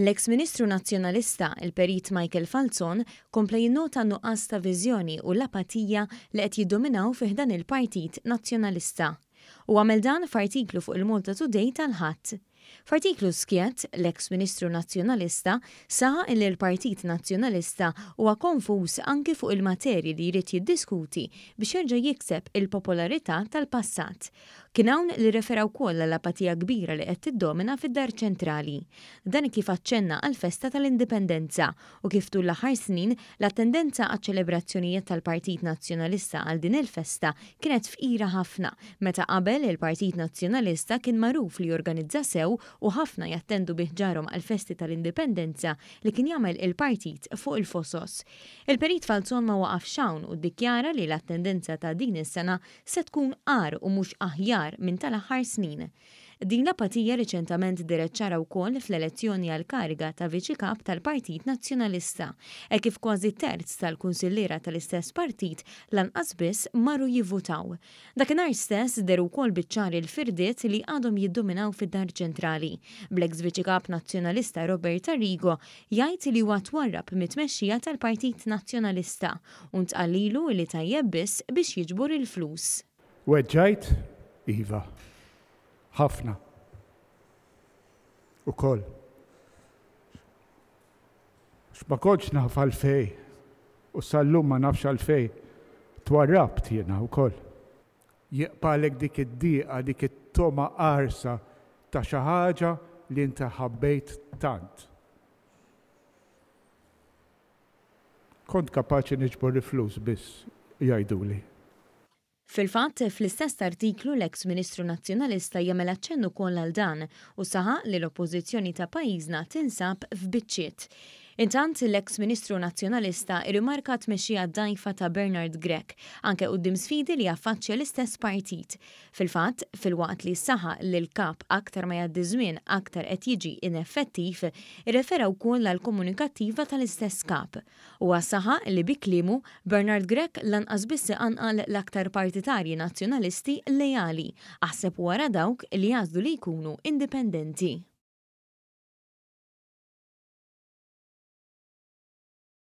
L-eks Ministru Nazzjonalista, il-Perit Michael Falzon, kompla jinnota n-nuqqas ta' viżjoni u l-apatija li qed jiddominaw fi ħdan il-Partit Nazzjonalista. Hu għamel dan f'artiklu fuq il-Malta Today tal-Ħadd. F'artiklu skjett, l-eks Ministru Nazzjonalista saħaq illi l-Partit Nazzjonalista huwa konfuż anki fuq il-materji li jrid jiddiskuti biex jerġa' jikseb il-popolarità tal-passat. Kien hawn li rrefera wkoll għall-apatija kbira li qed tiddomina fid-Dar Ċentrali. Dan kif aċċenna għall-festa tal-Indipendenza u kif tul l-aħħar snin l-attendenza għaċ-ċelebrazzjonijiet tal-Partit Nazzjonalista għal din il-festa kienet fqira ħafna meta qabel il-Partit Nazzjonalista kien magħruf li jorganizza sew u ħafna jattendu bi ħġarhom għall-festi tal-Indipendenza li kien jagħmel il-partit fuq il-Fosos. Il-Perit Falzon ma waqafx hawn u ddikjara li l-attendenza ta' din is-sena se tkun agħar u mhux aħjar minn tal-aħħar snin. Din l-apatija riċentament dehret ċara wkoll fl-elezzjoni għall-kariga ta' Viċi Kap tal-Partit Nazzjonalista, hekk kif kważi terz tal-kunsilliera tal-istess partit lanqas biss marru jivvutaw. Dakinhar stess dehru wkoll biċ-ċar il-firdiet li għadhom jiddominaw fid-Dar Ċentrali, bl-eks Viċi Kap Nazzjonalista Robert Arrigo jgħid li huwa twarrab mit-tmexxija tal-Partit Nazzjonalista U ntqal lilu li tajjeb biss biex jiġbor il-flus. Weġġajt? Iva. Ħafna. Ukoll. Għax ma kontx naf għalfejn, u sal-lum ma nafx għalfejn, twarrabt jiena wkoll. Jibqagħlek dik id-dieqa, dik it-togħma qarsa ta' xi ħaġa li inti ħabbejt tant. Kont kapaċi niġbor il-flus biss, jgħiduli. Fil-fatt, fl-istess artiklu l-eks Ministru Nazzjonalista jagħmel aċċenn ukoll għal dan u saħaq li l-Oppożizzjoni ta' pajjiżna tinsab f'biċċiet. Intant, l-eks Ministru Nazzjonalista irrimarka t-tmexxija dgħajfa ta' Bernard Grech, anke quddiem sfidi li jaffaċċja l-istess partit. Fil-fatt, filwaqt li saħaq li l-Kap aktar ma jgħaddi żmien aktar qed jiġi ineffettiv, irrefera wkoll għall-komunikattiva tal-istess Kap. Huwa saħaq li bi kliemu, Bernard Grech lanqas biss iqanqal l-aktar partitarji Nazzjonalisti leali, aħseb u ara dawk li jagħżlu li jkunu indipendenti.